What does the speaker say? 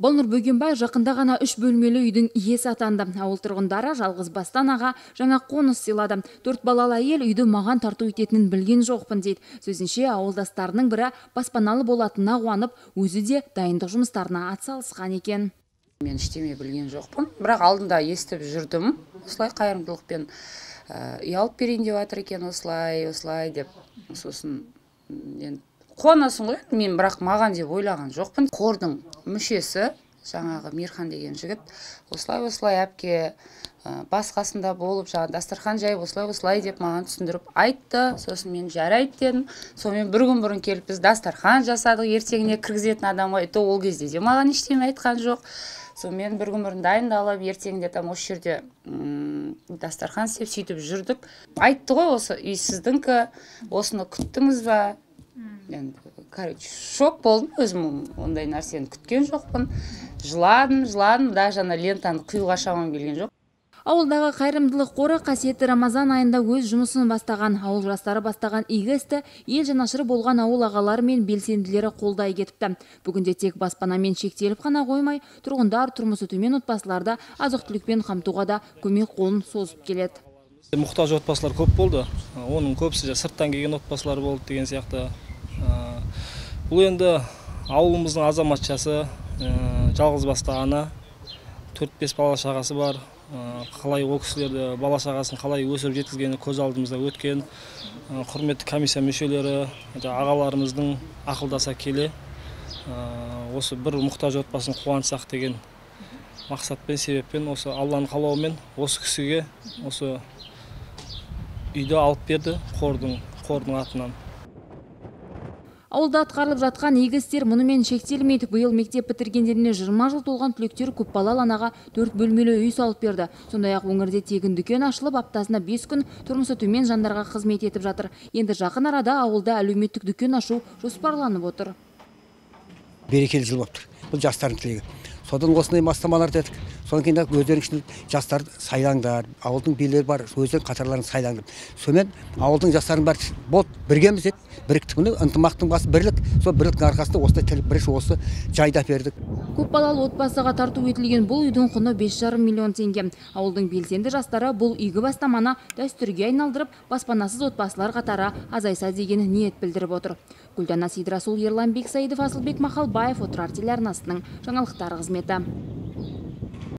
Болнур Бөгенбай жақында ғана 3 бөлмелі үйдің иесі атанды. Ауыл тұрғындары жалғыз бастан аға жаңа қоныс сыйлады. 4 балалы әйел үйді маған тарту ететінін білген жоқпын дейді. Сөзінше ауылдастарының бірі баспаналы болатынына қуанып, өзі де дайындық жұмыстарына атсалысқан екен. Мен ештеме білген жоқпын, бірақ алдында естіп жүрдім. Осылай қайырымдылықпен үй алып берейін деп жатыр екен, осылай деп. Сосын қуанасың ғой, мен бірақ маған деп ойлаған жоқпын. Қордың мүшесі, жаңағы Мирхан деген жігіт, осылай әпке басқасында болып, жаңа дастархан жайып, осылай деп маған түсіндіріп айтты. Сосын мен жарайды дедім. Сонымен бір күн бұрын келіп біз дастархан жасадық, ертеңіне кіргізетін адамға айтты, ол кезде де маған ештеме айтқан жоқ. Сонымен бір күн бұрын дайындалып, ертеңінде там осы жерде дастархан істеп сөйтіп жүрдік. Айтты ғой, осы үй сіздіңкі, осыны күттіңіз ба? Шок болдым, өзім ондай нәрсені күткен жоқпын. Жыладым, даже лентаны қиюға шамам келген жоқ. Ауылдағы қайырымдылық қоры қасиетті Рамазан айында өз жұмысын бастаған. Ауыл жастары бастаған игі істі ел жанашыры болған ауыл ағалары мен белсенділері қолдай кетіпті. Бүгінде тек баспанамен шектеліп қана қоймай, тұрғындар тұрмысы төмен отбасыларда азық-түлікпен қамтуға да көмек қолын созып келеді. Мұқтаж отбасылар көп болды. Оның көбісі сырттан келген отбасылар болды деген сияқты. Бұл енді ауылымыздың азаматшасы, жалғыз басты ана, 4-5 бала шағасы бар. Қалай ол кісілерді, бала шағасын қалай өсіріп жеткізгені көз алдымызда өткен. Құрметті комиссия мүшелері, ағаларымыздың ақылдаса келе, осы бір мұқтаж отбасын қуантсақ деген мақсатпен, себеппен, осы Алланың қалауымен осы кісіге осы үйді алып берді қордың атынан. Ауылда атқарылып жатқан игі істер мұнымен шектелмейді. Биыл мектеп бітіргендеріне 20 жыл толған түлектер көпбалалы анаға 4 бөлмелі үй салып берді. Сондай-ақ өңірде тегін дүкен ашылып, аптасына 5 күн тұрмысы төмен жандарға қызмет етіп жатыр. Енді жақын арада ауылда әлеуметтік дүкен ашу жоспарланып отыр. Берекелі жыл болып тұр. Бұл жастардың тілегі. Содан осындай бастамалар дедік. Содан кейін өздерінің ішінде жастар сайлаңдар, ауылдың билері бар, өздерінің қатарларын сайлаңдар. Сонымен ауылдың жастарын бәрі болды, біргеміз еді. Біріктігіне ынтымақтың басы бірлік, сол бірліктің арқасында осындай тіл бірінші осы жайда бердік. Көпбалалы отбасыға тарту етілген бұл үйдің құны 5,5 миллион теңге. Ауылдың белсенді жастары бұл игі бастаманы дәстүрге айналдырып, баспанасыз отбасылар қатары азайса деген ниет білдіріп отыр. Гүлдана Сидрасул, Ерлан Бексаидов, Асылбек Махалбаев, Отырар телеарнасының жаңалықтар қызметі.